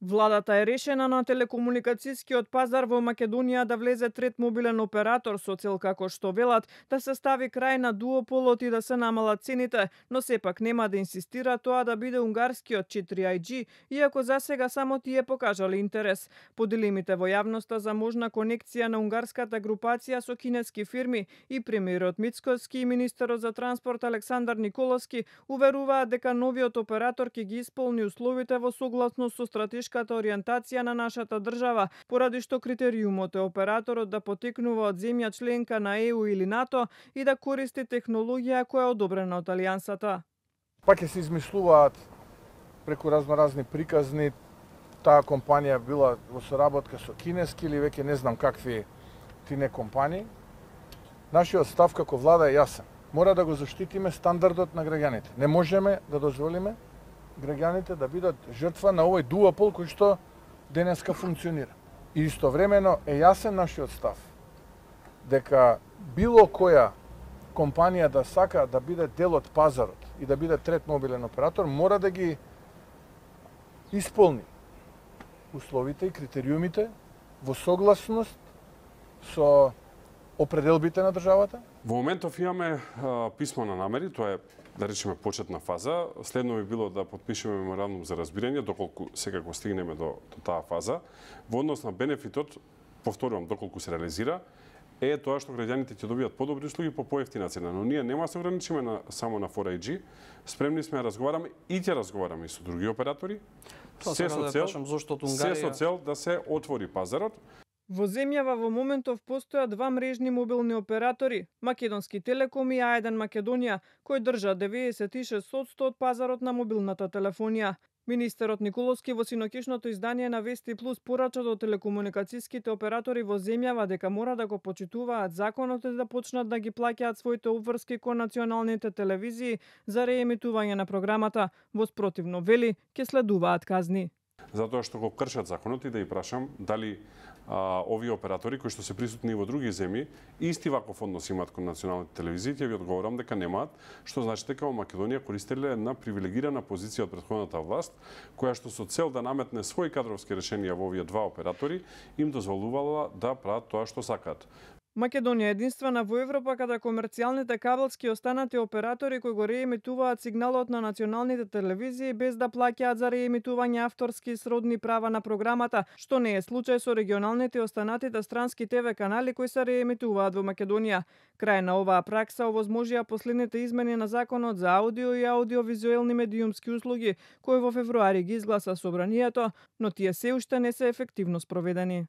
Владата е решена на телекомуникацијскиот пазар во Македонија да влезе трет мобилен оператор со цел, како што велат, да се стави крај на дуополот и да се намалат цените, но сепак нема да инсистира тоа да биде унгарскиот 4IG, иако засега само тие покажале интерес. Поделимите во јавноста за можна конекција на унгарската групација со кинески фирми и премиерот Мицкоски и министерот за транспорт Александар Николовски уверуваат дека новиот оператор ќе ги исполни условите во согласност со стратешката ориентација на нашата држава, поради што критериумот е операторот да потекнува од земја членка на ЕУ или НАТО и да користи технологија која е одобрена од Алијансата. Пак ќе се измислуваат преку разноразни приказни, таа компанија била во соработка со кинески или веќе не знам какви тине компании. Нашиот став како влада е јасен. Мора да го заштитиме стандардот на граѓаните. Не можеме да дозволиме граѓаните да бидат жртва на овој дуопол кој што денеска функционира. И истовремено е јасен нашиот став дека било која компанија да сака да биде дел од пазарот и да биде трет мобилен оператор, мора да ги исполни условите и критериумите во согласност со определбите на државата. Во моментов имаме писмо на намери, тоа е, да речеме, почетна фаза. Следно би било да подпишеме меморандум за разбирање, доколку секако стигнеме до таа фаза. Во однос на бенефитот, повторувам, доколку се реализира, е тоа што граѓаните ќе добијат подобри услуги по поевтина цена. Но ние нема да се ограничиме само на 4IG. Спремни сме да разговараме и ќе разговараме и со други оператори. Се со цел да се отвори пазарот. Во земјава во моментов постојат два мрежни мобилни оператори, Македонски Телеком и А1 Македонија, кои држат 96% од пазарот на мобилната телефонија. Министерот Николовски во синокишното издание на Вести Плюс порача до телекомуникацијските оператори во земјава дека мора да го почитуваат законот и да почнат да ги плаќаат своите обврски кон националните телевизии за реемитување на програмата. Во спротивно, вели, ќе следуваат казни. Затоа што го кршат законот и да ја прашам дали овие оператори кои што се присутни во други земји исти ваков однос имаат кон националните телевизии, ќе ви одговорам дека немаат, што значи дека во Македонија користеле една привилегирана позиција од претходната власт, која што со цел да наметне своји кадровски решенија во овие два оператори, им дозволувала да прават тоа што сакаат. Македонија е единствена во Европа каде комерцијалните кабелски останати оператори кои го реемитуваат сигналот на националните телевизии без да плаќаат за реемитување авторски и сродни права на програмата, што не е случај со регионалните и останатите странски ТВ канали кои се реемитуваат во Македонија. Крај на оваа пракса овозможија последните измени на законот за аудио и аудиовизуелни медиумски услуги, кои во февруари ги изгласа собранието, но тие се уште не се ефективно спроведени.